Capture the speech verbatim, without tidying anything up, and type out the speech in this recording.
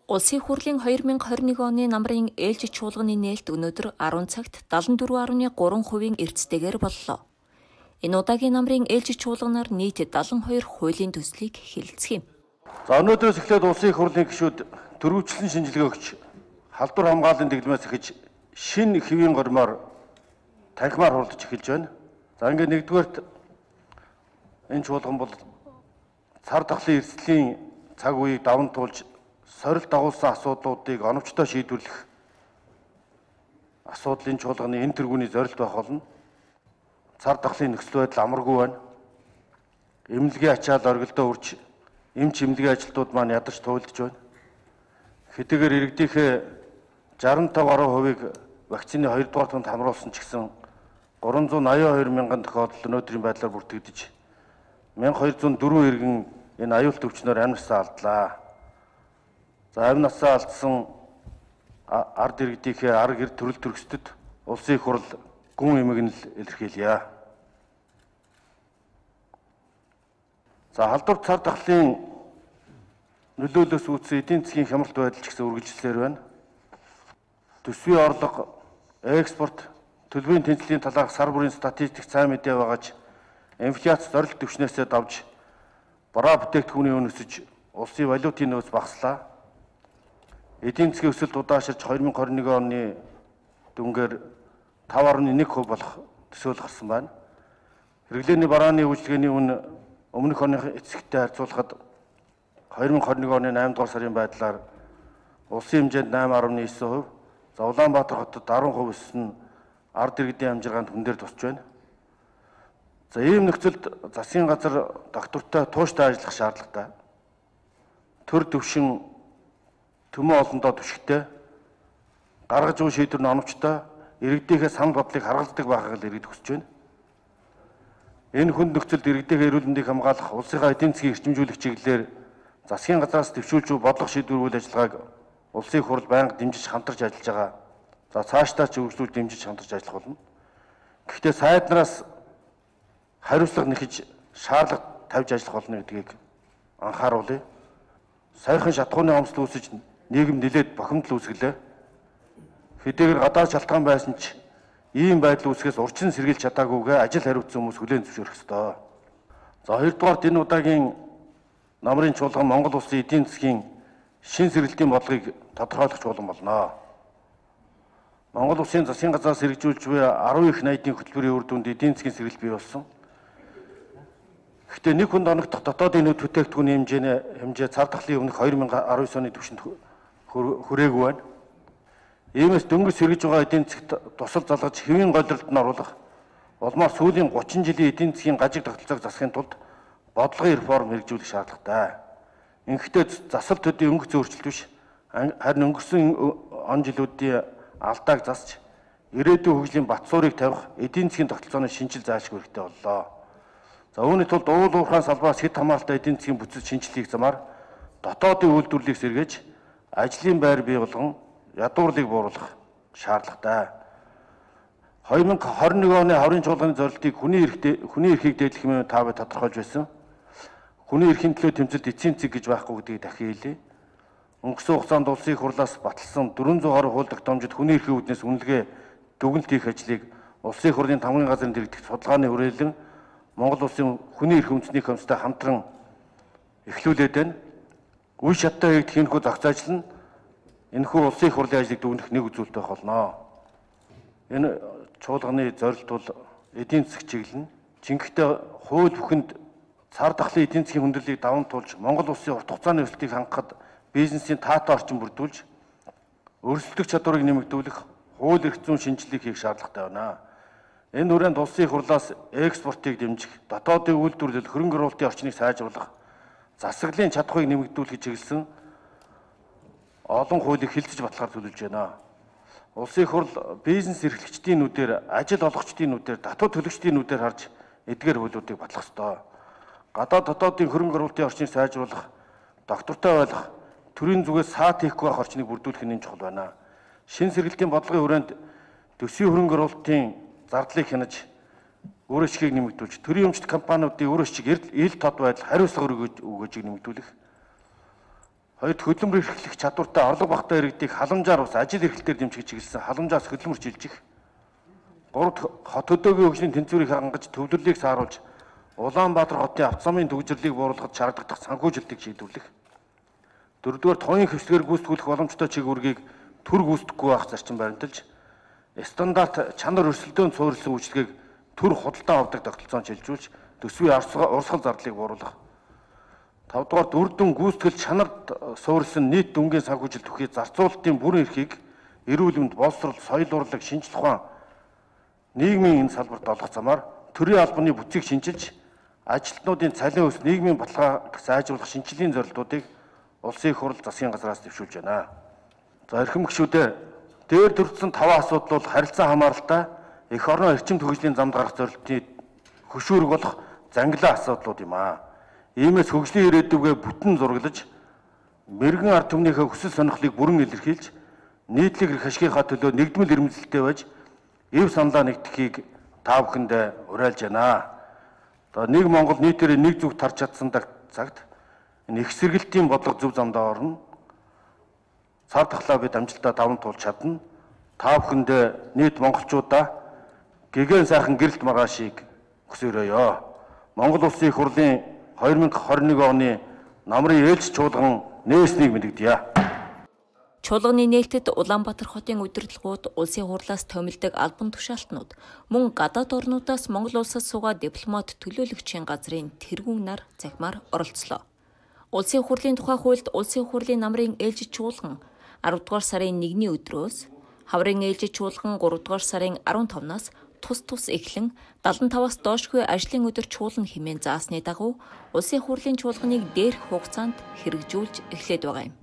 Улсын хурлын хоёр мянга хорин нэг оны намрын ээлжид чуулганы нээлт өнөөдөр арван цагт далан дөрвөн гаруй гурван хувийн эрдэстэйгээр боллоо. Энэ удаагийн намрын ээлжид чуулганаар нийт далан хоёр хуулийн төслийг хэлэлцэх юм. За өнөөдрөөс эхлээд улсын их хурлын гишүүд төрөвчлэн шинжилгээ өгч халдвар хамгааллын дэглэмээс эхэж шинэ хэвийн гормоор танхимаар хуралдаж эхэлж байна. За ингээд нэгдүгээрт энэ чуулган бол цар тахлын эрсдлийн цаг үеийг даван туулж сорилт дагуулсан асуудлуудыг оновчтой шийдвэрлэх асуудлын чуулганы энэ тэргүүний зорилт байх болно. Цар тахлын нөхцөл байдал амаргүй байна. Эмнэлгийн ачаал оргилдоо үрж эмч эмнэлгийн ажилтнууд маань ядарч туйлдж байна. Хэдийгээр иргэдийнхээ жаран тавь гаруй хувийг вакцины хоёрдугаар тунд хамруулсан ч гэсэн гурван зуун аяа хоёр мянган тохиолдол өнөөдрийн байдлаар бүртгэгдэж мянга хоёр зуун дөрвөн иргэн энэ аюулт өвчнөөр амь насаа алдлаа. За амь насаа алдсан ард иргэдийнхээ арга гэр төрөл төрөсдөд улсын их хурл гүн эмгэнэл илэрхийлье. За халдвар цар тахлын нөлөөлөөс үүдсэн эдийн засгийн хямралт байдал ч гэсэн үргэлжлэлээр байна. Төсвийн орлого, экспорт, төлбөрийн тэнцлийн талаарх сар бүрийн статистик сайн мэдээ байгаач инфляц зорилт түвшнээсээ давж бараа бүтээгдэхүүний үн өсөж улсын валютын нөөц багаслаа. Эдийн засгийн өсөлт удаашрж хоёр мянга хорин нэг оны дүнгээр тав гаруй нэг хувь болох төсөөл гарсан байна. Хэрэглээний барааны үйлчилгээний үн өмнөх оны эцэгтэй харьцуулахад хоёр мянга хорин нэг оны наймд дугаар сарын байдлаар улсын хэмжээнд найман гаруй девять хувь, за Улаанбаатар хотод дөрвөн хувь өссөн ард иргэдийн амжиргаанд хүн дээр тусч байна. За ийм нөхцөлд засгийн газар доктортой тууштай ажиллах шаардлагатай. Төр төвшин төмөн олондоо түшигтэй гаргаж буй шийдвэр нь оновчтой иргэдийнхээ санал бодлыг харгалздаг байхыг л иргэд хүсэж байна. Энэ хүнд нөхцөлд иргэдийнхээ эрүүл мэндийг хамгаалах улсынхаа эдийн засгийг эрчимжүүлэх чиглэлээр засгийн газраас төвшүүлж буй бодлого шийдвэр үйл ажиллагааг улсын их хурл байнга дэмжиж хамтарч ажиллаж байгаа. За цаашдаа ч үргэлжлүүлж дэмжиж хамтарч ажиллах болно. Гэхдээ сайднараас хариуцлага нэхэж шаардлага тавьж ажиллах болно гэдгийг анхааруулъя. Саяхан шатхууны хомсдол үүсэж нийгэм нэлээд бохимдол үүсгэлээ. Хэдийгээр гадаад шалтгаан байсан ч ийм байдал үүсгээс урьдчилан сэргийлж чадаагүйгээ ажил хариуцсан хүмүүс хүлээн зөвшөөрөх ёстой. За хоёрдугаарт энэ удаагийн намрын чуулган Монгол улсын эдийн засгийн шин сэргэлтийн бодлогыг тодорхойлох чуулган болно. Монгол улсын засгийн газраас хэрэгжүүлж буй арван их найдын хөтөлбөрийн үр дүнд эдийн засгийн сэргэлт бий болсон. Гэхдээ нэг хүнд оногдох дотоодын нөөц бүтээгдэхүүний хэмжээний хэмжээ цар тахлын өмнөх хоёр мянга арван девять оны түвшинд хүрээгүй байна. Иймээс дөнгөж сэргэж байгаа эдийн засгт тусал залгаж хэвийн голролд нь оруулах улмаар сүүлийн гучин жилийн эдийн засгийн гажиг тогтолцоог засахын тулд бодлогын реформ хэрэгжүүлэх шаардлагатай. Ингэхдээ засал төдийн өнгө зөөрчлөлт биш, харин өнгөрсөн он жилүүдийн алдааг засч ирээдүйн хөгжлийн бат суурийг тавих эдийн засгийн тогтолцооны шинжил заашгүй хэрэгтэй боллоо. За үүний тулд уул уурхайн салбараас хэд хамааралтай эдийн засгийн бүтэц шинжилгээх замаар дотоодын үйлдвэрлэлийг сэргээж ажлын байр бий болгон ядуурлыг бууруулах шаардлагатай. хоёр мянга хорин нэг оны хаврын чуулганы зорилтыг хүний эрхтэй хүний эрхийг дээдлэх юм та бид тодорхойлж байсан. Хүний эрхийн төлөө тэмцэлд эцсийн цэг гэж байхгүй гэдгийг дахин хэлье. Өнгөрсөн хугацаанд улсын их хурлаас баталсан дөрвөн зуун гаруй хууль тогтоомжид хүний эрхийн үүднээс үнэлгээ дүгнэлт хийх ажлыг улсын их хурлын тамгын газрын дэргэдэх судалгааны хүрээлэн Монгол улсын хүний эрх үндэсний комисстай хамтран эхлүүлээд байна. Үе шаттай хийгдэх энэхүү зохиц ажил нь энэхүү улсын их хурлын ажлыг дүгнэх нэг үзүүлэлт байх болно. Энэ чуулганы зорилт бол эдийн засаг чиглэл нь жинхэнэ хууль бүхэнд цар тахлын эдийн засгийн хүндрэлийг даван туулж Монгол улсын урт хугацааны өсөлтийг хангахад бизнесийн таатай орчин бүрдүүлж өрсөлдөх чадварыг нэмэгдүүлэх хууль эрх зүйн шинжилгээг хийх шаардлагатай байна. Энэ хүрээнд улсын их хурлаас экспортыг дэмжих, дотоодын үйлдвэрлэл, хөрөнгө оруулалтын орчныг сайжруулах, засаглалын чадхыг нэмэгдүүлэх чиглэсэн олон хуулийг хэлэлцэж батлахаар төлөвлөж байна. Улсын их хурл бизнес эрхлэгчдийн нүдээр, ажил олгогчдын нүдээр, татвар төлөгчдийн нүдээр харж эдгээр хуулиудыг батлах ёстой. Гадаад дотоодын хөрөнгө оруулалтын орчныг сайжруулах, доктортой байх, төрийн зүгээс саат хийхгүй байх орчныг бүрдүүлэх нь чухал байна. Шин сэргэлтийн бодлогын хүрээнд төсвийн хөрөнгө оруулалтын зардлыг хянаж өөр ашгийг нэмэгдүүлж, төрийн өмчт компаниудын өөр ашиг ил тод байдал хариуцлага өгөөжийг нэмэгдүүлэх. Хоёрд хөдөлмөр эрхлэх чадвартай орлого багтаа иргэдийг халамжаар ус ажил эрхлэлээр дэмжих чиглэсэн халамжаас хөдөлмөр шилжих. Гуравд хот хөдөөгийн хөгжлийн тэнцвэрийг хангаж төвлөрлийг сааруулж Улаанбаатар хотын автозамын төвжирлийг бууруулахад шаардлагатай санхүүжилтийг шийдвэрлэх. Дөрөвдүгээр тооны хвсгээр гүйцэтгүүлэх боломжтой чиглэлийг төр гүйцэтгэхгүй байх зарчим баримталж стандарт чанар өрсөлдөөнд суурилсан үйлчлэгийг төр худалдаа авдаг тогтолцоонд шилжүүлж төсвийн урсгал зардлыг бууруулах. Тавдугаар дүрдэн гүйцэтгэл чанарт суурилсан нийт дүнгийн санхүүжилт бүхий зарцуулалтын бүрэн эрхийг эрүүл мэнд, боловсрол, соёл урлаг, шинжлэх ухаан, нийгмийн энэ салбарт олгох замаар төрийн албаны бүтцийг шинжилж ажилтнуудын цалин өс нийгмийн баталгааг сайжруулах шинжилгээний зорилтуудыг улсын их хурл засгийн газраас дэвшүүлж байна. За эрхэм гишүүдээ дээр дурдсан таван асуудал бол харилцаа хамааралтай эх орноо эрчим хөгжлийн замд гарах зорилтын хөшүүрэг болох зангилаа асуудлууд юм аа. Иймээс хөгжлийн ирээдүгээ бүтэн зураглаж мэрэгэн ард түмнийхээ хүсэл сонирхлыг бүрэн илэрхийлж нийтлэг эрх ашигынхаа төлөө нэгдмэл эрмэлзэлтэй байж эв саналаа нэгтгэхийг та бүхэндээ уриалж байна. Одоо нэг Монгол нийтээрээ нэг зүг тарж чадсан цагт энэ их сэргэлтийн бодлого зөв замдаа орно. Цар тахлаа бид амжилтаа даван туулж чадна. Та бүхэндээ нийт монголчуудаа гэгэн сайхан гэрэлт маргаашийг хүсээрөөё. Монгол Улсын их хурлын хоёр мянга хорин нэг оны намрын ээлж чуулган нээснийг мэдэгдэе. Чуулганы нээлтэд Улаанбаатар хотын удирдлагууд, улсын хурлаас томилдог албан тушаалтнууд, мөн гадаад орнуудаас Монгол улсад суугаа дипломат төлөөлөгчийн газрын тэргүүн нар захимаар оролцлоо. Улсын хурлын тухай хуульд улсын хурлын намрын ээлжид чуулган аравдугаар сарын нэгний өдрөөс, хаврын ээлжид чуулган гуравдугаар сарын арван тавнаас тус тус эхлэн далан таваас доошгүй ажлын өдөр чуулган хэмээн заасны дагуу улсын хурлын чуулганыг дээрх хугацаанд хэрэгжүүлж эхлээд байгаа юм.